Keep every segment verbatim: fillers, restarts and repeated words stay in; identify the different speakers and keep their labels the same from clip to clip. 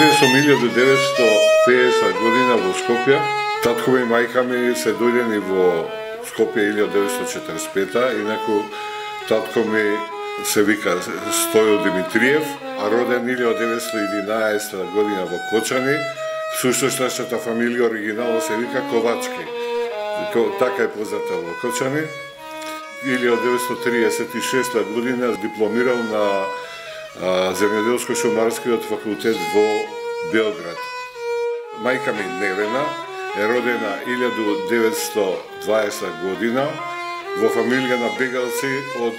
Speaker 1: Роден сум илјада деветстотини и педесета година во Скопје. Татко ми и мајка ми се дојдени во Скопје илјада деветстотини и четиридесет и пета, инаку татко ми се вика Стојо Димитриев, а роден илјада деветстотини и единаесета година во Кочани. Всушност нашата фамилија оригинално се вика Ковачки. Така е позната во Кочани. илјада деветстотини и триесет и шеста година дипломирал на Земјоделско-шумарскиот факултет во Белград. Мајка ми Невена е родена илјада деветстотини и дваесета година во фамилија на бегалци од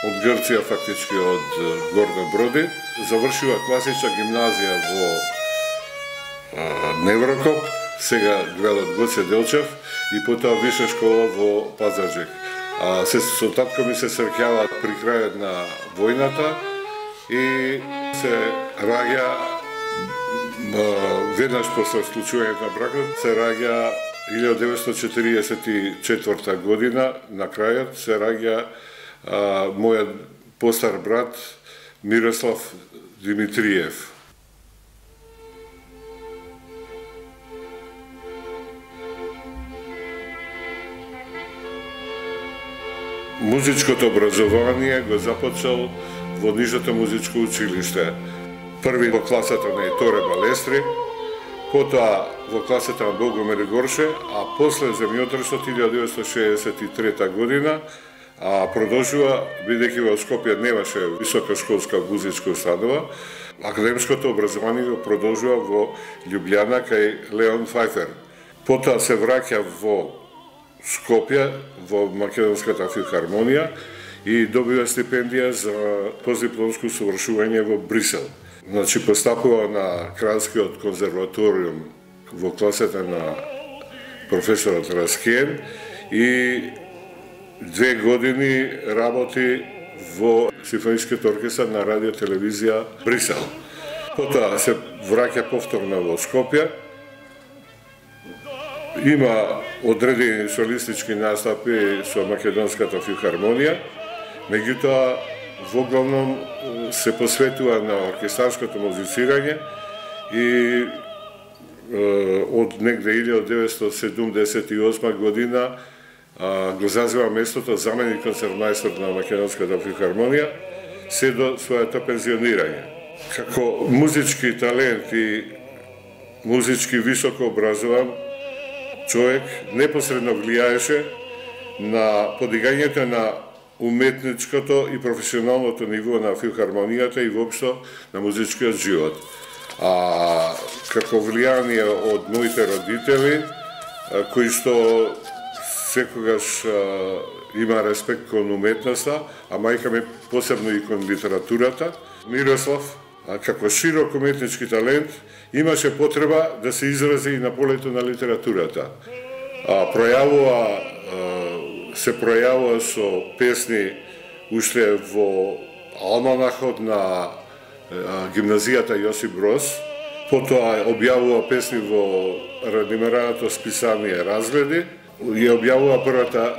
Speaker 1: од Грција, фактички од Горна Броди. Завршила класична гимназија во Неврокоп, сега градот Гоце Делчев, и потоа виша школа во Пазарџик. А се со татко ми се среќаваат при крајот на војната и се раѓа веднаш после склучувањето на бракот, се раѓа илјада деветстотини и четиридесет и четврта година, на крајот се раѓа а, мојот постар брат Мирослав Димитриев. Музичкото образование го започнал во Нижното музичко училиште. Први во класата на Еторе Балестри, потоа во класата на Богомир Горше, а после земјотресот илјада деветстотини и шеесет и трета година, а продолжува, бидејќи во Скопје немаше високошколска музичка установа, академското образование го продолжува во Љубљана кај Леон Фајфер. Потоа се враќа во Скопје, во Македонската филхармонија и добива стипендија за постдипломско усовршување во Брисел. Значи, постапува на Кралскиот конзерваториум во класата на професорот Раскен и две години работи во Симфонискиот оркестар на радио телевизија Брисел. Потоа се враќа повторно во Скопје. Има одредени солистички настапи со Македонската филхармонија, меѓутоа во главном се посветува на оркестарското музицирање и е, од негде илјада деветстотини седумдесет и осма година а, го зазема местото заменик концертмајстор на Македонската филхармонија се до својата пензионирање. Како музички талент и музички високо образован човек непосредно влијаеше на подигањето на уметничкото и професионалното ниво на филхармонијата и воопшто на музичкиот живот. А како влијание од моите родители, кои што секогаш а, има респект кон уметноста, а мајка ми посебно и кон литературата, Мирослав, а, како широк уметнички талент, имаше потреба да се изрази и на полето на литературата. А, пројавува, а, се пројавува со песни уште во алманахот на а, гимназијата Јосип Броз, потоа објавува песни во радимераното списание Разгледи и објавува првата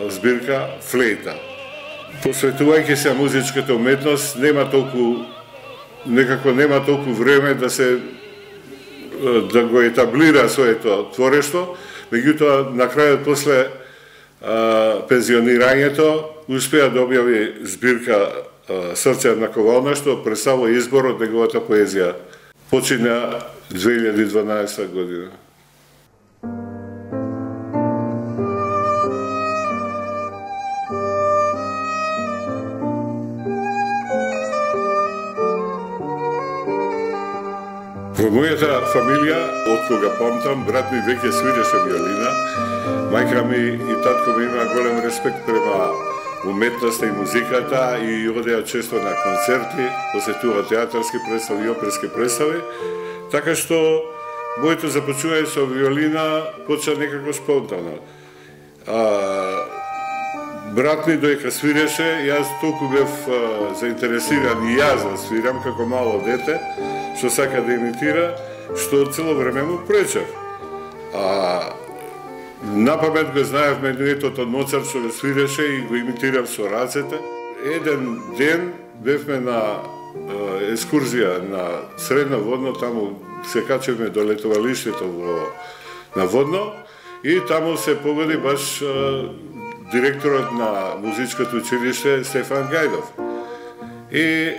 Speaker 1: збирка Флейта. Посветувајќи се музичката уметност, нема толку некако нема толку време да се да го етаблира своето творештво, меѓутоа на крајот после а, пензионирањето успеа да објави збирка а, Срце на ковална, што представува избор од неговата поезија. Почина две илјади и дванаесета година. Во мојата фамилија, од кога памтам, брат ми веќе свиреше виолина, мајка ми и татко ми има голем респект према уметноста и музиката и одеа често на концерти, посетува театарски представи и оперски представи, така што моето започување со виолина почна некако спонтано. А, брат ми доека свиреше, јас толку бев а, заинтересиран и јас да свирам како мало дете, што сака да имитира, што цело време му пречев. А напамет го знаев менуетот од Моцарт што го свиреше и го имитирав со рацете. Еден ден бевме на екскурзија на Средно Водно, таму се качевме до летовалиштето во на Водно и таму се погоди баш директорот на музичкото училиште Стефан Гајдов. И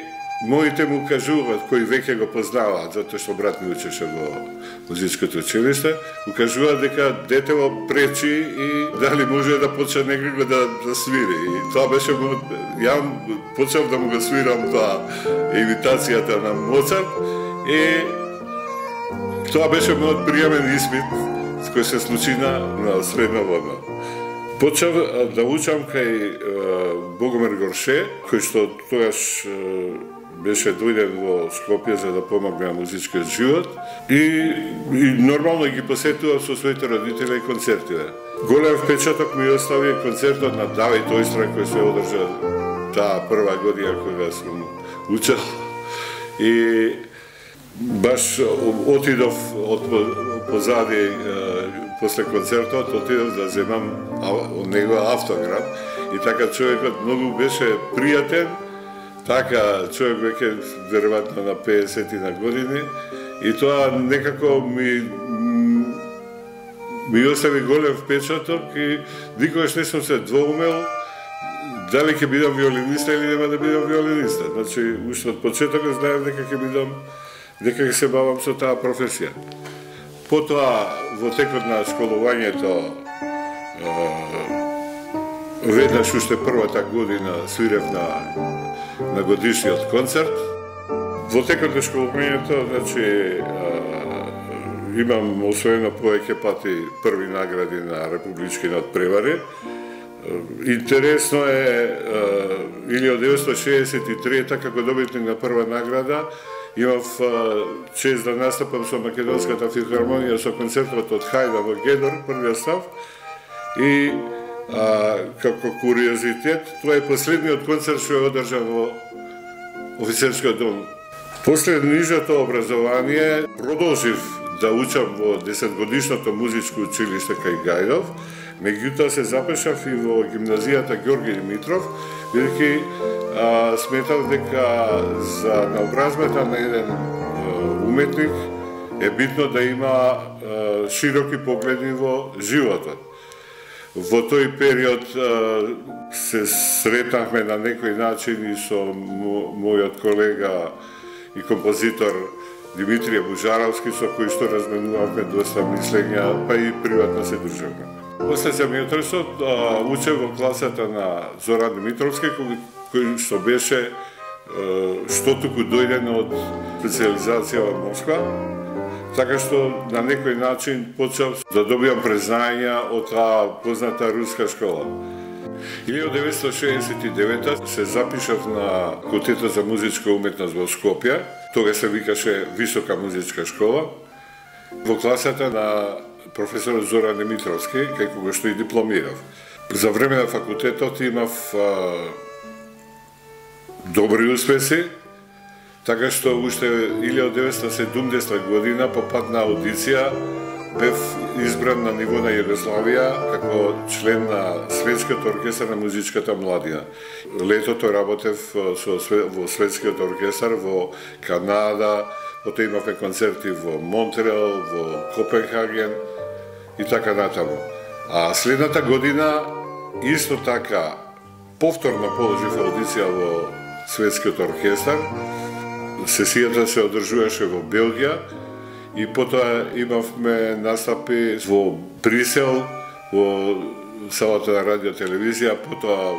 Speaker 1: моите му кажуваат, кои веќе го познаваат, затоа што брат ми учеше во музичкото училиште, му кажуваат дека детево пречи и дали може да почне некако да, да свири. И тоа беше, ја почнав да му го свирам тоа имитацијата на Моцарт и тоа беше мојот приемен испит кој се случи на, на Средно Водно. Почнав да учам кај Богомир Горше, кој што тогаш беше дојден во Скопје за да помогне на музичкиот живот и, и нормално ги посетував со своите родители и концертиве. Голем впечаток ми остави концертот на Давид Ојстра кој се одржа таа прва година кога сум учел и баш отидов од позади после концертот, отидов да земам од него автограф и така човекот многу беше пријатен. Така, човек веќе веројатно на педесет на години и тоа некако ми ми остави голем впечаток и никогаш не сум се двоумел дали ќе бидам виолиниста или нема да бидам виолиниста. Значи, уште од почетокот знаев дека ќе бидам, дека ќе се бавам со таа професија. Потоа, во текот на школувањето, веднаш уште првата година свирев на на годишниот концерт. Во текот на школувањето, значи, имам освоено повеќе пати први награди на Републичкиот превари. Интересно е, илјадесетстотини шеесет и трета како добитник на прва награда, имав чест да настапам со Македонската филхармонија со концертот од Хајда во Гедор, првиот став, и А, како куриозитет, тоа е последниот концерт што е одржан во офицерскиот дом. После нижото образование продолжив да учам во десетгодишното музичко училиште кај Гајдов, меѓутоа се запишав и во гимназијата Ѓорги Димитров, бидејќи сметав дека за наобразбата на еден а, уметник е битно да има а, широки погледи во животот. Во тој период се сретнахме на некој начин и со мојот колега и композитор Димитрија Бужаровски, со кој што разменувавме доста мислења, па и приватно се дружевме. После семиотесет учев во класата на Зоран Димитровски, кој што беше што туку дојден од специализација во Москва, така што на некој начин почнав да добивам признања од таа позната руска школа. илјадесетстотини деветдесет и девета се запишав на Факултетот за музичка уметност во Скопје, тога се викаше Висока музичка школа, во класата на професорот Зоран Димитровски, кај кога што и дипломирав. За време на факултетот имав а, добри успеси, така што уште илјадесетстотини и седумдесета година по пат на аудиција бев избран на ниво на Југославија како член на Светскиот оркестар на музичката младина. Летото работев со, во Светскиот оркестар во Канада, потоа имавме концерти во Монтреал, во Копенхаген и така натаму. А следната година исто така повторно положив аудиција во Светскиот оркестар. Сесијата се одржуваше во Белгија и потоа имавме настапи во Брисел, во салата на радио телевизија, потоа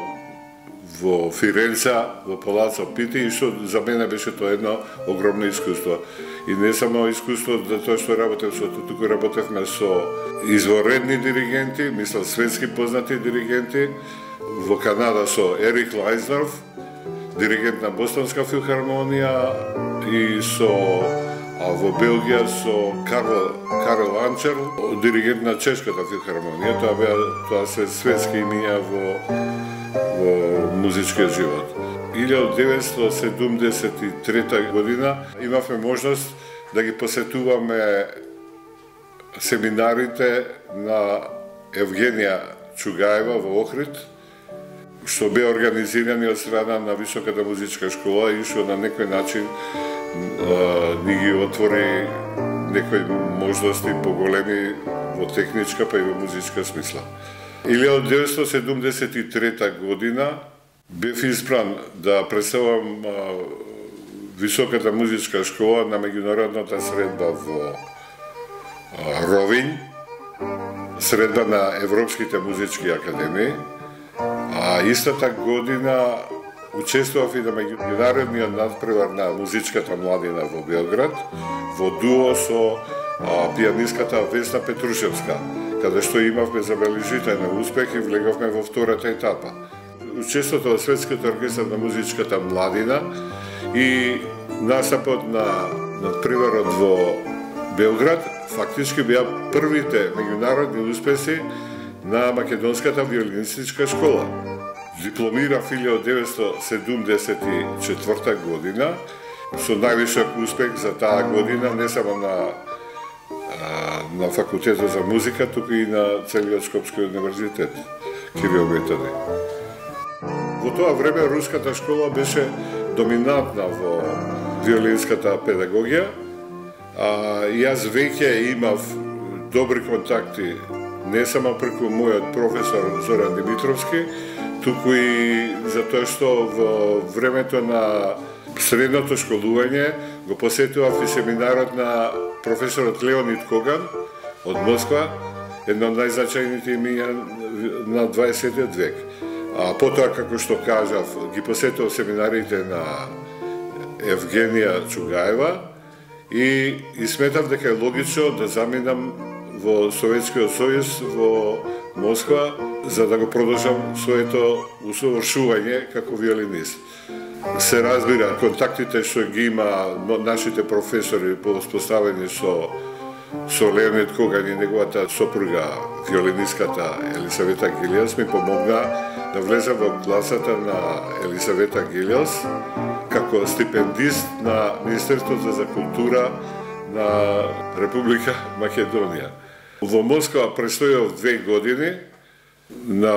Speaker 1: во Фиренца, во Палацо Пити, и што за мене беше тоа едно огромно искуство. И не само искуство за тоа што работев со, туку работевме со изворедни диригенти, мислам светски познати диригенти, во Канада со Ерик Лайзнорф, диригент на Бостонска филхармонија, и со а во Белгија со Карл Карл Анчер, диригент на Чешката филхармонија. Тоа беа тоа се светски имиња во во музичкиот живот. илјадесетстотини деветдесет и седумдесет и трета година имавме можност да ги посетуваме семинарите на Евгенија Чугаева во Охрид, што беа организирани од страна на Високата музичка школа и што на некој начин ни ги отвори некои можности поголеми во техничка па и во музичка смисла. илјада деветстотини седумдесет и трета година бев избран да представам Високата музичка школа на меѓународната средба во Ровин, средба на Европските музички академии, а истата година учествував и на меѓународниот надпревар на музичката младина во Белград, во дуо со а, пианистката Весна Петрушевска, каде што имавме забележителен успех и влегавме во втората етапа. Учеството во Светскиот оркестар на музичката младина и настапот на надпреварот во Белград фактички беа првите меѓународни успеси на македонската виолинистичка школа. Дипломирав илјада деветстотини седумдесет и четврта година со највисок успех за таа година не само на на факултетот за музика, туку и на целиот Скопски универзитет Кирил Методи. Во тоа време руската школа беше доминантна во виолинската педагогија, а јас веќе имав добри контакти не само преку мојот професор Зоран Димитровски, туку и затоа што во времето на средното школување го посетував и семинарот на професорот Леонид Коган од Москва, едно од најзначајните имиња на дваесеттиот век. А потоа, како што кажав, ги посетував семинарите на Евгенија Чугаева и, и сметав дека е логично да заминам во Советскиот сојуз во Москва за да го продолжам своето усовршување како виолинист. Се разбира, контактите што ги има нашите професори по успоставени со со Леонид Коган и неговата сопруга, виолинистката Елисавета Гилиос, ми помогна да влезам во класата на Елисавета Гилиос како стипендист на Министерството за култура на Република Македонија. Во Москва престојав две години на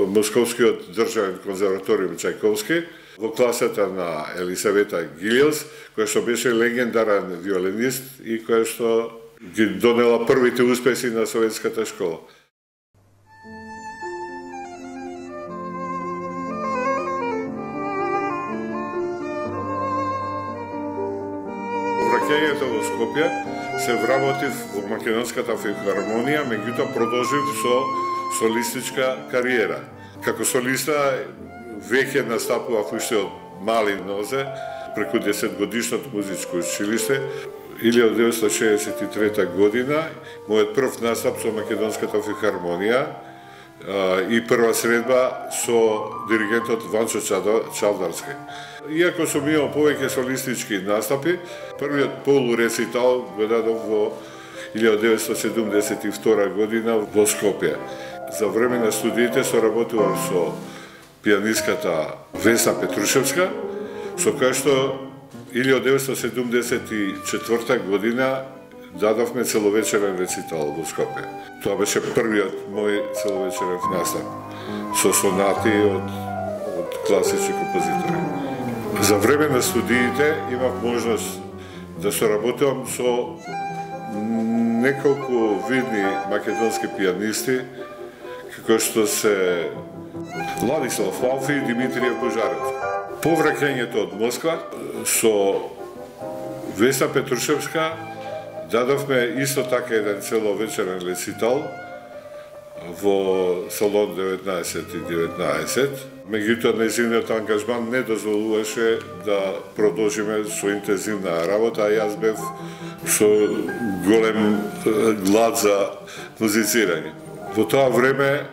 Speaker 1: Московскиот државен конзерваториум Чајковски во класата на Елисавета Гилиос, која што беше легендарен виолинист и која што ги донела првите успеси на советската школа. Враќањето во Скопје се вработив во Македонската филхармонија, меѓутоа продолжив со солистичка кариера. Како солиста веќе настапував уште од мали нозе преку десетгодишното музичко училиште. илјада деветстотини шеесет и трета година мојот прв настап со Македонската филхармонија и прва средба со диригентот Ванчо Чалдарски. Иако сум имал повеќе солистички настапи, првиот полурецитал го дадов во илјада деветстотини седумдесет и втора година во Скопје. За време на студиите соработував со пианистката Весна Петрушевска, со која што илјада деветстотини седумдесет и четврта година дадовме целовечерен рецитал во Скопје. Тоа беше првиот мој целовечерен настап со сонати од, од класични композитори. За време на студиите имав можност да соработувам со неколку видни македонски пианисти, како што се Владислав Лалфи и Димитрија Божарев. По враќањето од Москва со Весна Петрушевска дадовме исто така еден целовечерен рецитал во салон деветнаесет и деветнаесет. Меѓутоа, нејзиниот ангажман не дозволуваше да продолжиме со интензивна работа, а јас бев со голем глад за музицирање. Во тоа време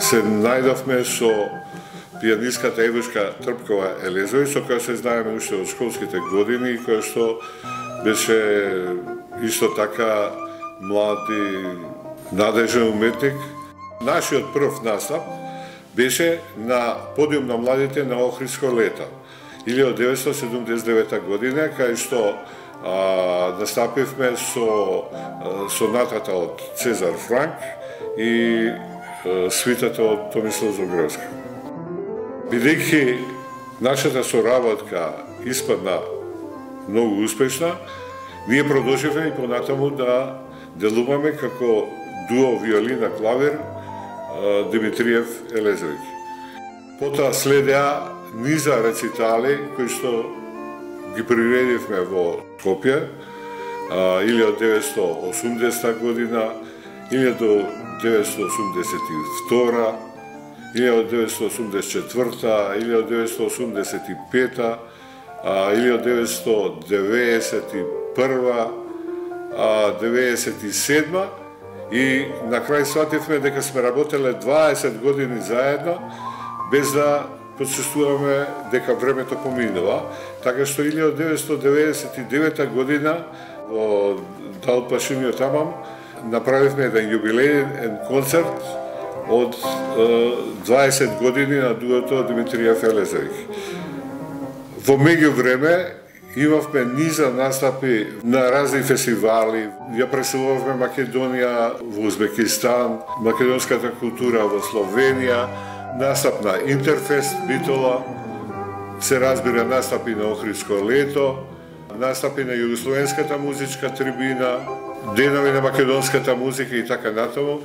Speaker 1: се најдовме со пианистката Евушка Трпкова Елезовиќ, со која се знаеме уште од школските години и која што беше исто така млад и надежен уметник. Нашиот прв настап беше на подиум на младите на Охридско лето, илјада деветстотини седумдесет и девета година, кај што а, настапивме со а, сонатата од Цезар Франк и а, свитата од Томислав Зогревски. Бидејќи нашата соработка испадна многу успешна, ние продолживме и понатаму да делуваме како дуо виолина клавир Димитриев Елезовиќ. Потоа следеа низа рецитали кои што ги приредивме во Скопје илјада деветстотини и осумдесета година, илјада деветстотини и осумдесет и втора, илјада деветстотини и осумдесет и четврта, илјада деветстотини и осумдесет и пета, илјада деветстотини и деветдесет и прва, деветдесет и седма и на крај свативме дека сме работеле дваесет години заедно без да почувствуваме дека времето поминува, така што илјада деветстотини деветдесет и девета година во Дал Пашиниот Амам направивме еден јубилеен концерт од дваесет години на дуото Димитриев Елезовиќ. Во меѓувреме имавме низа настапи на разни фестивали. Ја преселувавме Македонија во Узбекистан, македонската култура во Словенија, настап на Интерфест Битола, се разбира настапи на Охридско лето, настапи на Југословенската музичка трибина, денови на македонската музика и така натаму.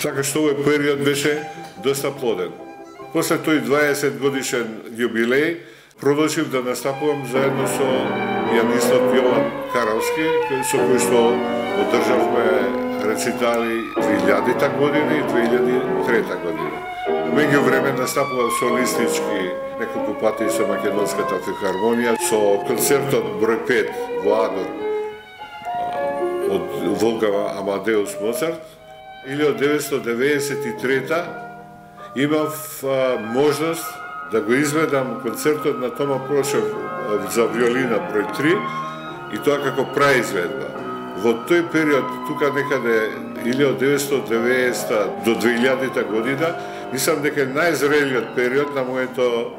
Speaker 1: Така што овој период беше доста плоден. После тој дваесет годишен јубилеј, продолжив да настапувам заедно со пианистот Јован Каровски, со кој што одржавме рецитали две илјадата година и две илјади и трета година. Меѓу време настапував солистички неколку пати со Македонската филхармонија, со концертот број пет во Адор од Волфганг Амадеус Моцарт. илјада деветстотини деветдесет и трета имав можност да го изведам концертот на Тома Прошев за виолина број три и тоа како праизведба. Во тој период, тука некаде илјада деветстотини деветдесета до две илјадата година, мислам дека е најзрелиот период на моето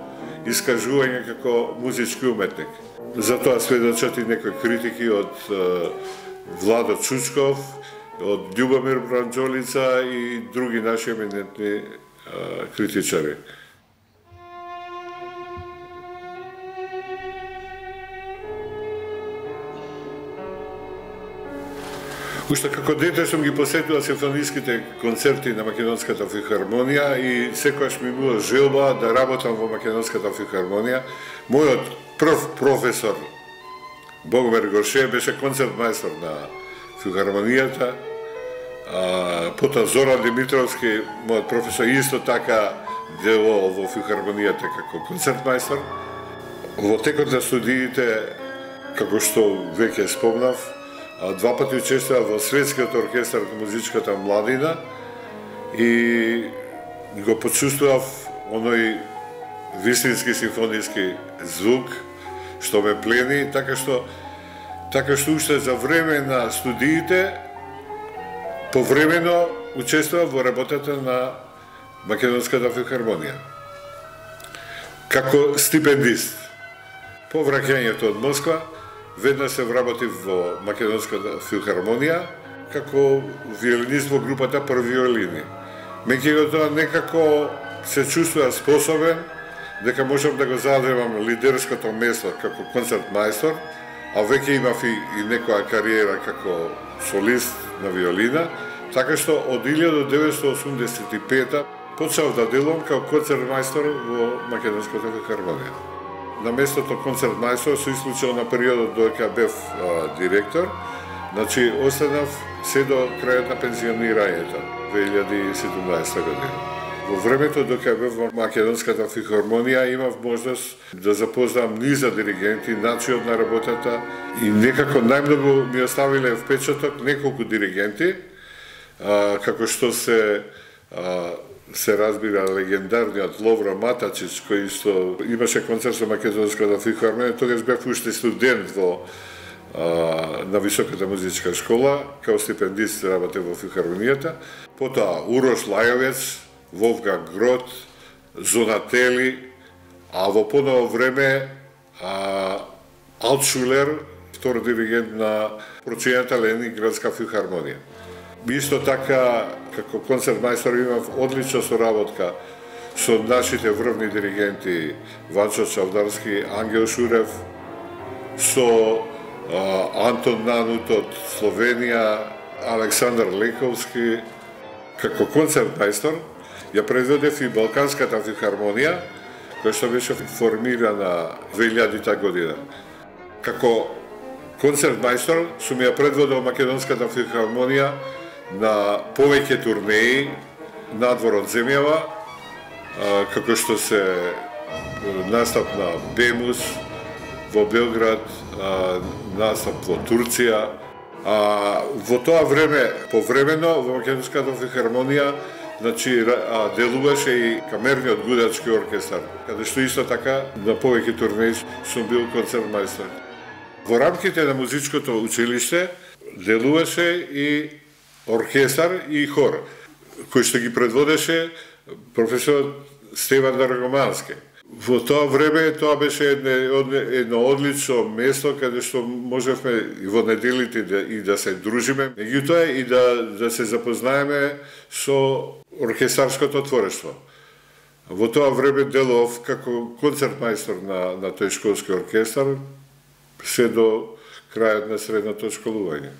Speaker 1: искажување како музички уметник. Затоа сведочат и некои критики од Владо Чучков, од Љубомир Бранџолица и други наши еминентни критичари. Уште како дете сум ги посетувал симфониските концерти на Македонската филхармонија и секогаш ми била желба да работам во Македонската филхармонија. Мојот прв професор Богомир Горше беше концертмајстор на филхармонијата. Потоа Зоран Димитровски, мојот професор, исто така дело во филхармонијата како концертмајстор. Во текот на студиите, како што веќе спомнав, два пати учествував во Светскиот оркестар на музичката младина и го почувствував оној вистински симфониски звук што ме плени, така што така што уште за време на студиите повремено учествував во работата на Македонската филхармонија како стипендист. По враќањето од Москва веднаш се вработив во Македонската филхармонија како виолинист во групата Први виолини. Меѓутоа некако се чувствува способен дека можам да го задевам лидерското место како концертмајстор, а веќе имав и, и некоја кариера како солист на виолина, така што од илјада деветстотини и осумдесет и пета почнав да делувам како концертмајстор во Македонската филхармонија. На местото концертмајстор, со исклучено на периодот додека бев а, директор, значи останав се до крајот на пензионирањето, две илјади и седумнаесета година. Во времето додека бев во Македонската филхармонија имав можност да запознам низа диригенти, начинот на работата и некако најмногу ми оставиле впечаток неколку диригенти, а, како што се а, се разбира легендарниот Ловро Матачич, кој што имаше концерт со Македонската филхармонија, тогаш бев уште студент во а, на Високата музичка школа, као стипендист работев во филхармонијата. Потоа Урош Лајовец, Волфганг Грот, Зонатели, а во поново време а, Алтшулер, втор диригент на прочињата Ленинградска филхармонија. Исто така, како концертмајстор имав одлична соработка со нашите врвни диригенти Ванчо Чавдарски, Ангел Шурев, со а, Антон Нанут од Словенија, Александар Лековски. Како концертмајстор ја предведев и Балканската филхармонија, која што беше формирана две илјадита година. Како концертмајстор сум ја предводел Македонската филхармонија на повеќе турнеи надвор од земјава, како што се настап на Бемус во Белград, настап во Турција. А во тоа време, повремено, во Македонската филхармонија, значи, делуваше и камерниот гудачки оркестар, каде што исто така на повеќе турнеи сум бил концертмајстор. Во рамките на музичкото училиште делуваше и оркестар и хор, кој што ги предводеше професорот Стеван Даргомански. Во тоа време тоа беше едно, едно одлично место каде што можевме и во неделите да, и да се дружиме, меѓутоа и да, да се запознаеме со оркестарското творештво. Во тоа време делов како концертмајстор на, на тој школски оркестар се до крајот на средното школување.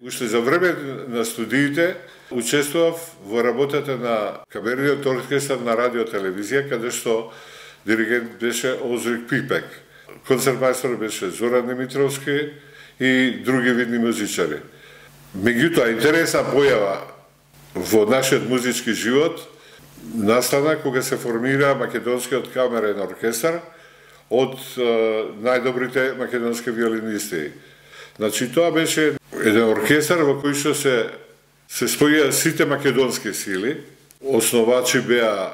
Speaker 1: Уште за време на студиите учествував во работата на камерниот оркестар на радио телевизија, каде што диригент беше Озрик Пипек. Концертмајстор беше Зоран Димитровски и други видни музичари. Меѓутоа, интересна појава во нашиот музички живот настана кога се формира Македонскиот камерен оркестар од е, најдобрите македонски виолинисти. Значи, тоа беше еден оркестар во кој што се се споја сите македонски сили. Основачи беа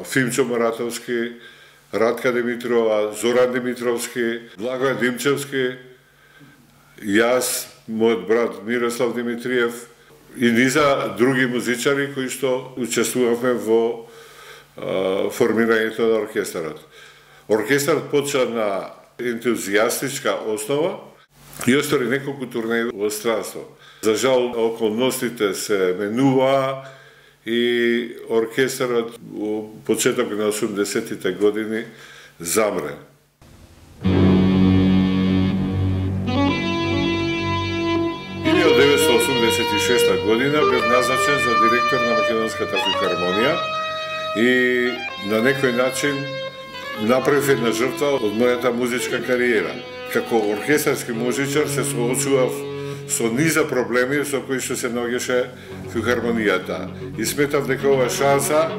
Speaker 1: Фимчо Моратовски, Радка Димитрова, Зоран Димитровски, Благој Димчевски, јас, мојот брат Мирослав Димитриев и низа други музичари кои што учествувавме во а, формирањето на оркестарот. Оркестарот почна на ентузијастичка основа и остори неколку турнеи во странство. За жал, околностите се менуваа и оркестарот во почеток на осумдесетите години замре. илјада деветстотини осумдесет и шеста година бев назначен за директор на Македонската филхармонија и на некој начин направив една жртва од мојата музичка кариера. Како оркестарски музичар се соочував со низа проблеми со кои што се наоѓаше филхармонијата. И сметав дека ова шанса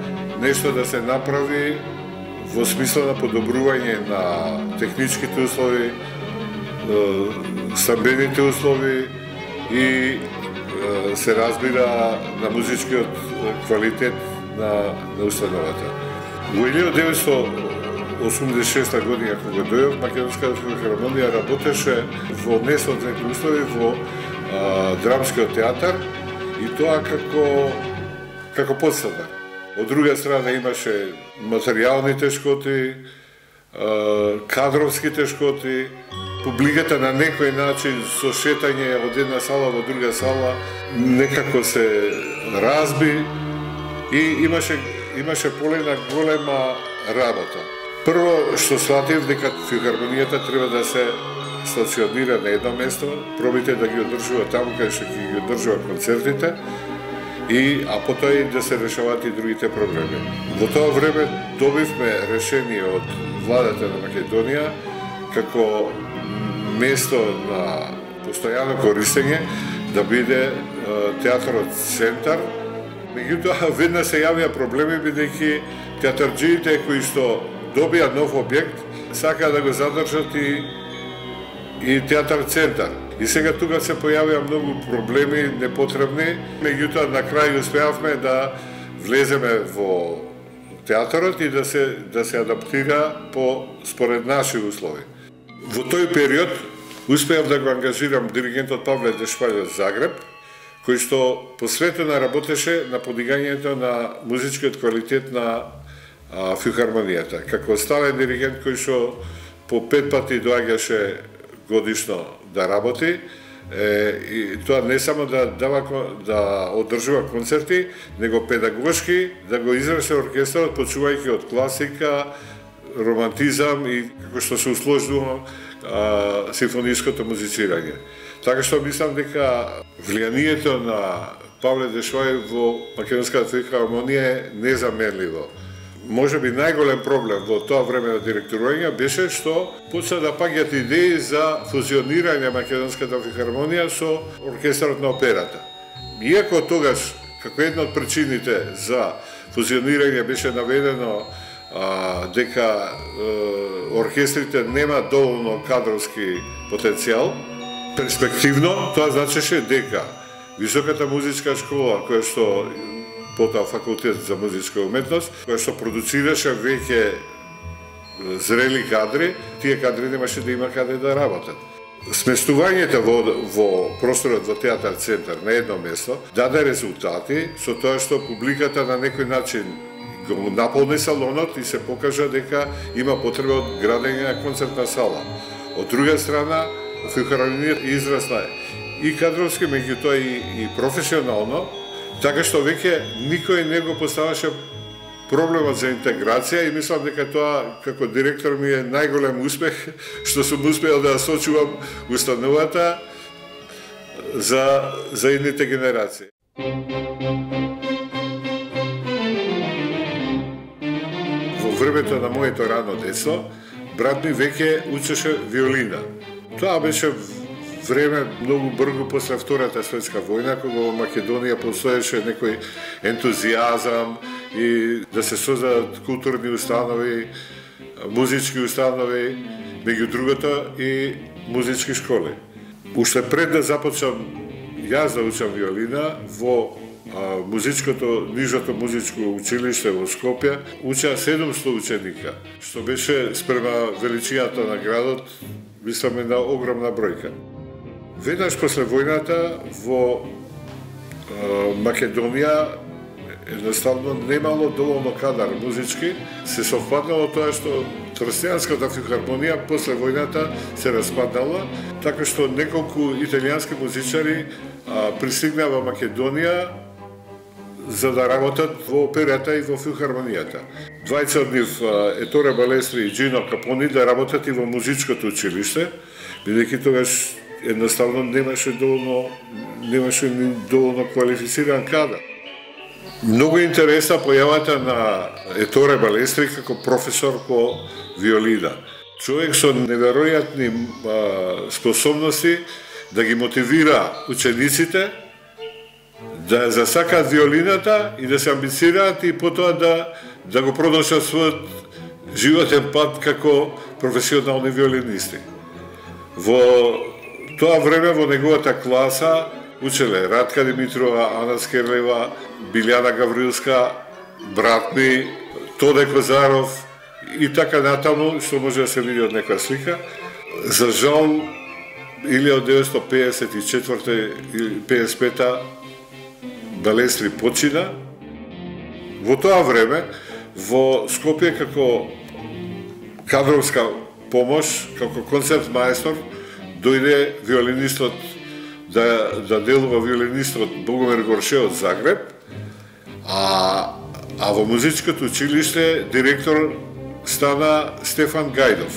Speaker 1: нешто да се направи во смисла на подобрување на техничките услови, стамбените услови и се разбира на музичкиот квалитет на, на установата. Во илјада деветстотини осумдесет и шеста година кога дојдов, Македонската филхармонија работеше во несоодветни услови во а, драмскиот театар и тоа како како подстана. Од друга страна имаше материјални тешкоти, а, кадровски тешкоти, публиката на некој начин со шетање од една сала во друга сала некако се разби и имаше имаше полена голема работа. Прво што сватив дека филхармонијата треба да се стационира на едно место, пробите да ги одржува таму каде што ги одржува концертите, и а потоа и да се решаваат и другите проблеми. Во тоа време добивме решение од владата на Македонија како место на постојано користење да биде театарот Центар. Меѓутоа веднаш се јавија проблеми бидејќи театарџиите кои што добија нов објект сакаа да го задржат и и театар Центар. И сега тука се појавија многу проблеми непотребни, меѓутоа на крај успеавме да влеземе во театарот и да се да се адаптира по според наши услови. Во тој период успеав да го ангажирам диригентот Павле Дешпајле од Загреб, кој што посветено работеше на подигањето на музичкиот квалитет на а, филхармонијата. Како стален диригент кој што по пет пати доаѓаше годишно да работи, Е, и тоа не само да дава да одржува концерти, него педагошки да го израсе оркестарот, почувајќи од класика, романтизам и како што се усложнува симфониското музицирање. Така што мислам дека влијанието на Павле Дешвај во Македонската филхармонија е незаменливо. Може би најголем проблем во тоа време на директорување беше што почна да паѓаат идеи за фузионирање Македонската филхармонија со оркестарот на операта. Иако тогаш, како една од причините за фузионирање беше наведено а, дека е, оркестрите нема доволно кадровски потенцијал, перспективно тоа значеше дека Високата музичка школа, која што потоа факултет за музичка уметност, која што продуцираше веќе зрели кадри, тие кадри немаше да има каде да работат. Сместувањето во, во просторот во театар центар на едно место даде резултати со тоа што публиката на некој начин го наполни салонот и се покажа дека има потреба од градење на концертна сала. Од друга страна, филхармонијата израсла и кадровски, меѓутоа и, и професионално, така што веќе никој не го поставаше проблемот за интеграција и мислам дека тоа како директор ми е најголем успех што сум успеал да сочувам установата за, за едните генерации. Во времето на моето рано детство, брат ми веќе учеше виолина. Тоа беше време многу брзо после Втората светска војна, кога во Македонија постоеше некој ентузијазам и да се создадат културни установи, музички установи, меѓу другото и музички школи. Уште пред да започнам јас да учам виолина, во а, музичкото, нижото музичко училиште во Скопје, учеа седумсто ученика, што беше спрема величината на градот, мислам една огромна бројка. Веднаш после војната во е, Македонија едноставно немало доволно кадар музички, се совпаднало тоа што Трстијанската филхармонија после војната се распаднала, така што неколку италијански музичари а, пристигнаа во Македонија за да работат во операта и во филхармонијата. Двајца од нив, Еторе Балестри и Джино Капони, да работат и во музичкото училиште, бидејќи тогаш едноставно немаше доволно немаше ни доволно квалифициран кадар. Многу интересна појавата на Еторе Балестри како професор по виолина. Човек со неверојатни а, способности да ги мотивира учениците да засакаат виолината и да се амбицираат и потоа да да го продолжат својот животен пат како професионални виолинисти. Во тоа време во неговата класа учеле Радка Димитрова, Ана Скерлева, Билјана Гаврилска, брат ми, Тоде Козаров и така натаму, што може да се види од некоја слика. За жал, илјада деветстотини пеесет и четврта или пеесет и пета Балестри почина. Во тоа време, во Скопје како кадровска помош, како концерт маестор, дојде виолинистот да, да делува виолинистот Богомир Горше од Загреб, а, а во музичкото училиште директор стана Стефан Гајдов.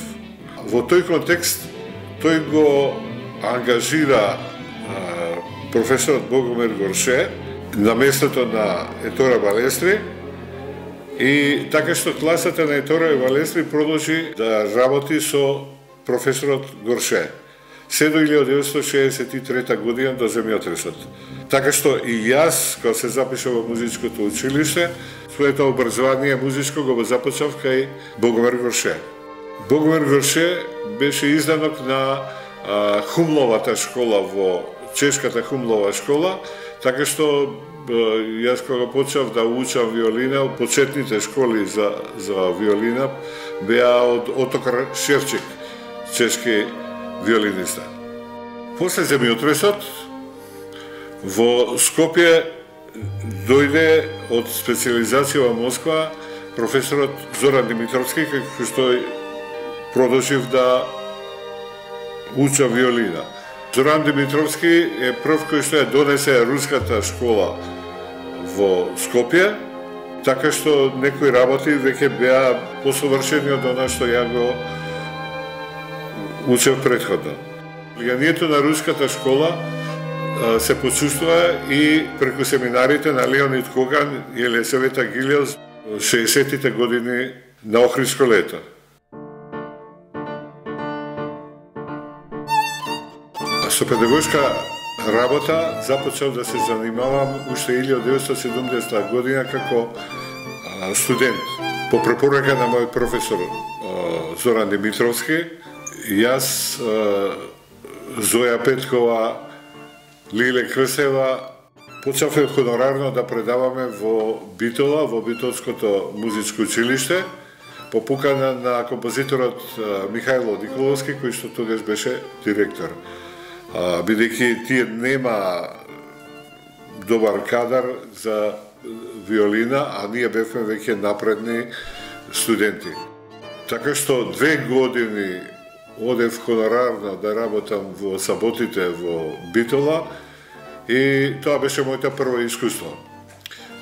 Speaker 1: Во тој контекст тој го ангажира а, професорот Богомир Горше на местото на Етора Балестри и така што класата на Етора Балестри продолжи да работи со професорот Горше. Се до илјада деветстотини шеесет и трета година до земјотресот. Така што и јас, кога се запишав во музичкото училиште, своето образование музичко го започнав кај Богомир Горше. Богомир Горше беше изданок на а, Хумловата школа во чешката Хумлова школа, така што јас кога почнав да учам виолина, почетните школи за, за виолина беа од Отокар Шевчик, чешки виолиниста. После земјотресот во Скопје дојде од специализација во Москва професорот Зоран Димитровски, кој што продолжив да уча виолина. Зоран Димитровски е прв кој што ја донесе руската школа во Скопје, така што некои работи веќе беа посовршени од она што ја го учев предходно. Влијанието на руската школа се почувствува и преку семинарите на Леонид Коган и Елисавета Гилјос шеесеттите години на Охридско лето. Со педагошка работа започнав да се занимавам уште илјадесетстотини деветстотини и седумдесета година како студент. По препорака на мојот професор Зоран Димитровски, јас, Зоја Петкова, Лиле Крсева, почнавме хонорарно да предаваме во Битола, во Битолското музичко училиште, по покана на композиторот Михајло Николовски, кој што тогаш беше директор. Бидејќи тие нема добар кадар за виолина, а ние бевме веќе напредни студенти. Така што две години одев хонорарно да работам во саботите во Битола и тоа беше мојата прво искуство.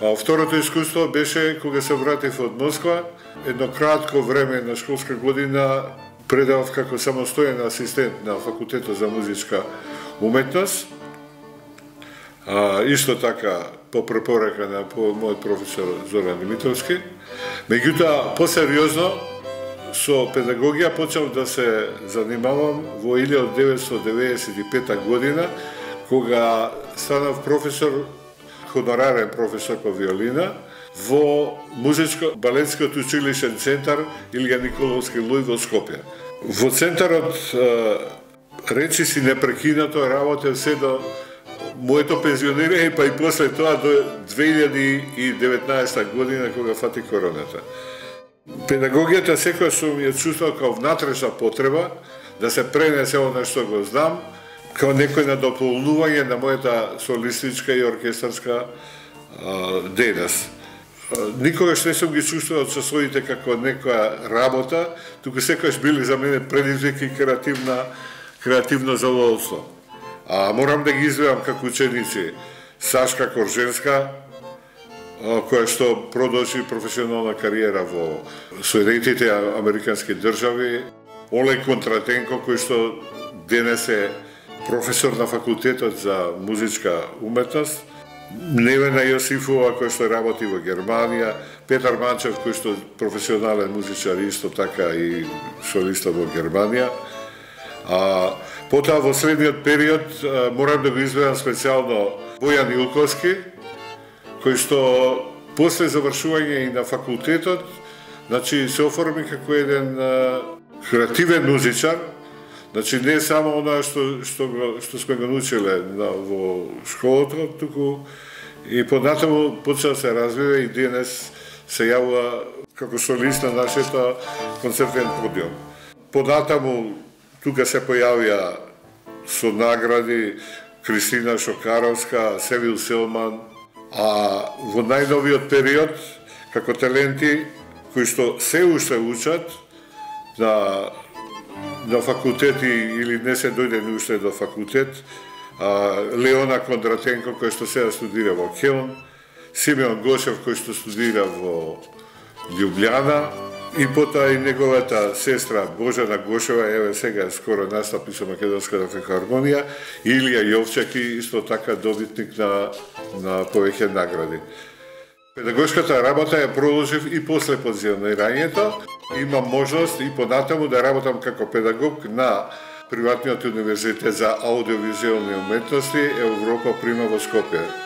Speaker 1: А второто искуство беше кога се вратив од Москва, едно кратко време на школска година предавав како самостоен асистент на Факултетот за музичка уметност. А, исто така по препорака на по мојот професор Зоран Димитровски. Меѓутоа, посериозно со педагогија почнав да се занимавам во илјада деветстотини деветдесет и пета година, кога станав професор, хонорарен професор по виолина во музичко-балетскиот училишен центар Илија Николовски Луј во Скопје. Во центарот речиси непрекинато работев се до моето пензионирање, па и после тоа до две илјади и деветнаесета година кога фати короната. Педагогијата секоја сум ја чувствувал како внатрешна потреба да се пренесе она што го знам, како некој надополнување на мојата солистичка и оркестарска дејност. Никогаш не сум ги чувствувал часовите како некоја работа, туку секогаш били за мене предизвик и креативна, креативно задоволство. А морам да ги изведам како ученици Сашка Корженска, која што продолжи професионална кариера во Соединетите Американски држави, Олег Контратенко, кој што денес е професор на Факултетот за музичка уметност, Невена Јосифова, кој што работи во Германија, Петар Манчев, кој што професионален музичар, исто така и солиста во Германија. А, потоа во следниот период морам да го изведам специјално Бојан Илковски, кој што после завршување и на факултетот, значи се оформи како еден а, креативен музичар. Значи не само она што што што сме го научиле на во школата, туку и понатаму почна да се развива и денес се јавува како солист на нашето концертен подиум. Понатаму тука се појавија со награди Кристина Шокаровска, Севил Селман, а во најновиот период како таленти кои што се уште учат на на факултети или не се дојдени уште до факултет, а, Леона Кондратенко кој што сега студира во Келн, Симеон Гошев кој што студира во Љубљана и потоа и неговата сестра Божана Гошева, еве сега скоро настапи со Македонската филхармонија, Илија Јовчаки исто така добитник на на повеќе награди. Педагошката работа ја продолжив и после пензионирањето. Имам можност и понатаму да работам како педагог на Приватниот универзитет за аудиовизуелни уметности Европа Прима во Скопје.